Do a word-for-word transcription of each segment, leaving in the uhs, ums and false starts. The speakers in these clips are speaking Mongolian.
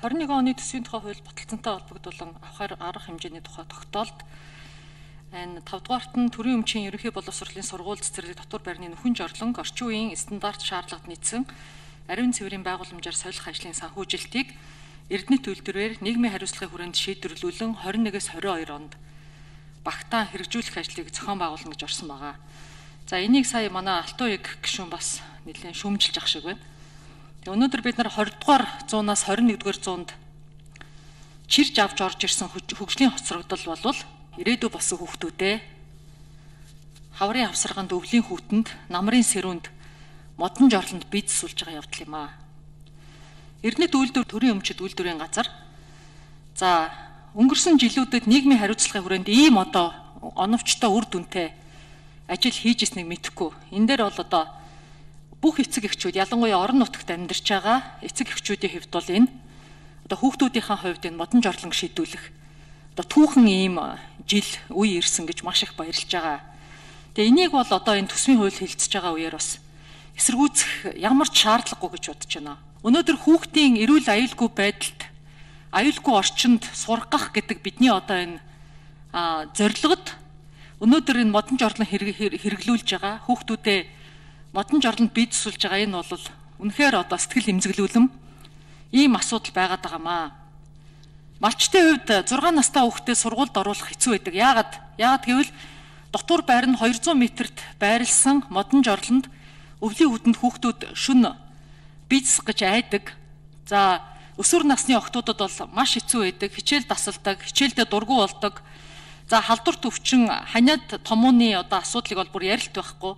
twenty twenty-one оны төсвийн тухай хууль баталцантай холбогдуулан авах арга хэмжээний тухай тогтоолт. Энэ five дугаарт нь төрийн өмчийн ерөнхий боловсролын сургууль цэцэрлэг дотор байрны нөхөн жорлонг орчин үеийн стандарт шаардлагад нийцсэн ариун цэврийн байгууламжаар солих ажлын санхүүжилтийг Эрдэнэт үйлдвэрээр нийгмийн хариуцлагын хүрээнд шийдвэрлүүлэн twenty-one-ээс twenty-two онд багтаан хэрэгжүүлэх ажлыг зохион байгуулна гэж орсон байгаа. За энийг сая манай Алтан уяг гишүүн бас нэлээд шүүмжилж ах шиг байна. Тэгээ өнөөдөр бид нар twenty дугаар зуунаас twenty-one дугаар зуунд чирж авч орж ирсэн хөгжлийн хоцрогдол болвол ирээдүй болсон хүүхдүүдээ хаврын авсарганд өвлийн хүүтэнд намрын сэрүүнд модон жорлонд бие засуулж байгаа явдал юм аа. Эрдэнэт үйлдвэр төрийн өмчит үйлдвэрийн газар за өнгөрсөн жилүүдэд нийгмийн хариуцлагын хүрээнд ийм одоо оновчтой үр дүнтэй ажил хийж ирснийг мэдэхгүй. Энэ дээр бол одоо бүх эцэг эхчүүд ялангуяа орон нутагт амьдарч байгаа эцэг эхчүүдийн хэвд бол энэ одоо хүүхдүүдийнхээ хувьд энэ модон жорлонг шийдвүлэх одоо түүхэн ийм жил үе ирсэн гэж маш их баярлж байгаа. Тэгээ энийг бол одоо энэ төсвийн хууль хэлцэж байгаа үеэр бас эсэргүүцэх ямар ч шаардлагагүй гэж бодож байна. Өнөөдөр хүүхдийн эрүүл аюулгүй байдалд аюулгүй орчинд сургах гэдэг бидний одоо энэ зорилгод өнөөдөр энэ модон жорлон хэрэглүүлж байгаа хүүхдүүдээ модон жорлонд бие засуулж байгаа энэ бол үнэхээр одоо сэтгэл эмзэглүүлэм ийм асуудал байгаад байгаамаа. Малчтын хувьд six настай хүүхдээ сургуульд оруулах хэцүү байдаг. Яагаад? Яагаад гэвэл дотор байр нь two hundred метрт байрлсан модон жорлонд өвлийн хүүтэнд хүүхдүүд шөнө бие засах гэж айдаг. За өсвөр насны охтуудад бол маш хэцүү байдаг. Хичээл тасалдаг, хичээлдээ дургу болдог. За халдварт өвчин ханиад томооны одоо асуудлыг бол бүр ярилт байхгүй.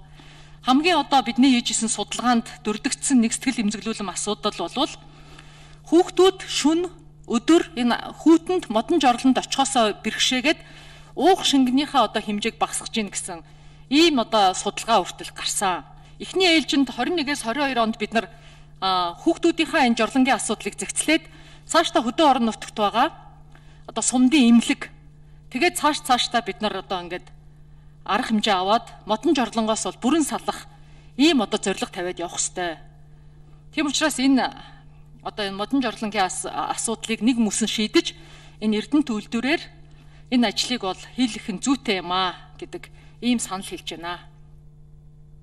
Хамгийн одоо бидний хийж исэн судалгаанд дурддагдсан нэг сэтгэл эмзэглүүлэм асуудал болвол хүүхдүүд шөнө өдөр энэ хүүтэнд модон жорлонд очихосоо бэрхшээгээд уух шингэнийхээ одоо хэмжээг багасгаж гин гэсэн ийм одоо судалгаа хүртэл гарсан. Эхний ээлжинд twenty-one-ээс twenty-two онд бид нар хүүхдүүдийнхээ энэ жорлонгийн асуудлыг зэгцлээд цаашдаа хөдөө орон нутагт байгаа одоо сумдын имлэг тэгээд цааш цаашдаа бид нар одоо ингээд арга хэмжээ аваад модон жорлонгоос бол бүрэн салах ийм одоо зорилго тавиад явах ёстой. Тийм учраас энэ одоо энэ модон жорлонгийн асуудлыг нэг мөсөн шийдэж энэ Эрдэнэт үйлдвэрээр энэ ажлыг бол хийх нь зүйтэй юм аа гэдэг ийм санал хэлж байна.